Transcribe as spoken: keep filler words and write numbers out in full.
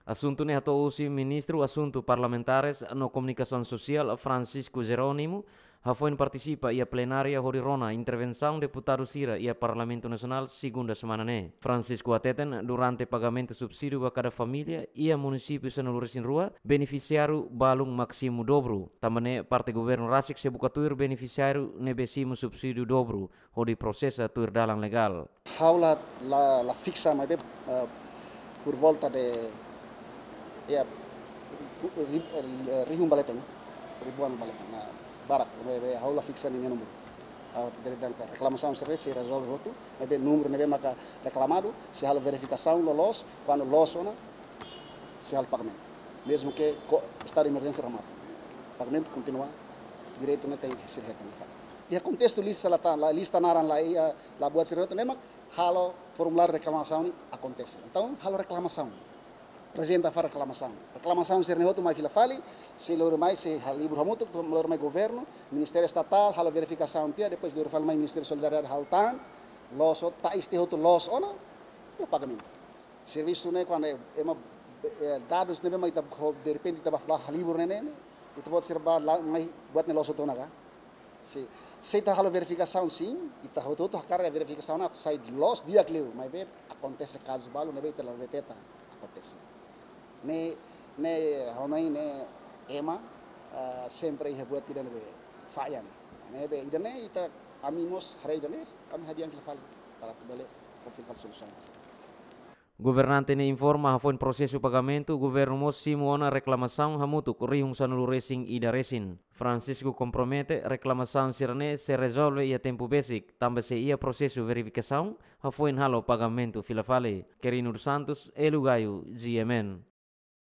Asuntu ne'e hato'o husi Ministru Asuntu Parlamentares no Komunikasaun Sosiál, Francisco Jerónimo, hafoin partisipa iha plenária hodi rona intervensaun deputadu sira iha Parlamentu Nasionál segunda semana ne'e. Francisco hateten, durante pagamentu subsídiu ba kada família iha munisípiu sanulu-resin-rua, benefisiáriu balun mak simu dobru. Tanba ne'e, parte governu rasik sei buka tuir benefisiáriu ne'ebé simu subsídiu dobru hodi prosesa tuir dalan legál. Ha'u la, la, la fiksa, maibé, eh, por volta de, ya, ri-, eh, rihun ba leten, ribuan ba leten, na, barak, maibé ha'u la fiksa ninia númeru. Ha'u hatete de'it katak reklamasaun sira sei rezolve hotu, maibé númeru ne'ebé maka reklamadu, sei halo verifikasaun loloos, kuandu loos ona, sei halo pagamentu. Mezmu ke ko-, estadu de emerjénsia remata, pagamentu kontinua, direitu ne'e tenke sei hetan nafatin. Iha kontestu lista la ta-, la lista naran la iha, la buat sira hotu ne'e mak halo formuláriu reklamasaun ne'e akontese. Entaun, halo reklamasaun. Aprezenta fali reklamasaun. Reklamasaun sira ne'e hotu mai fila fali, sei lori mai, sei halibur hamutuk, lori mai governu, Ministériu Estatál, halo verifikasaun tiha, depois lori fali mai Ministériu Solidariedade halo tan, loos hotu, tais tiha hotu loos ona, iha pagamentu. Servisu ne'e kuandu ema, eh, dadus ne'ebé mak ita ho, derrepente ita bá halibur ne'e, ne'e, ita-boot sira bá la, mai buat ne'e loos hotu ona ka? Se, se ita halo verifikasaun sin, ita hotu-hotu hakarak verifikasaun atu sai loos di'ak liu, maibé akontese kazu balu ne'ebé ita la deteta akontese. Ne'e, ne'e, ha'u hanoin ne'e ema, ah, sempre iha buat ida ne'ebé falla ne'e. Ne'ebé ida-ne'e ita, ami mós haree ida-ne'e, ami hadi'a fila fali, para atu bele fó fila fali solusaun. Governante ne'e informa hafoin prosesu pagamentu, governu mós simu ona reklamasaun hamutuk rihun sanulu-resin-ida resin. Francisco kompromete reklamasaun sira-ne'e sei rezolve iha tempu besik, tanba sei iha prosesu verifikasaun, hafoin halo pagamentu fila fali. Quirino dos Santos, Hélio Gaio, G M N.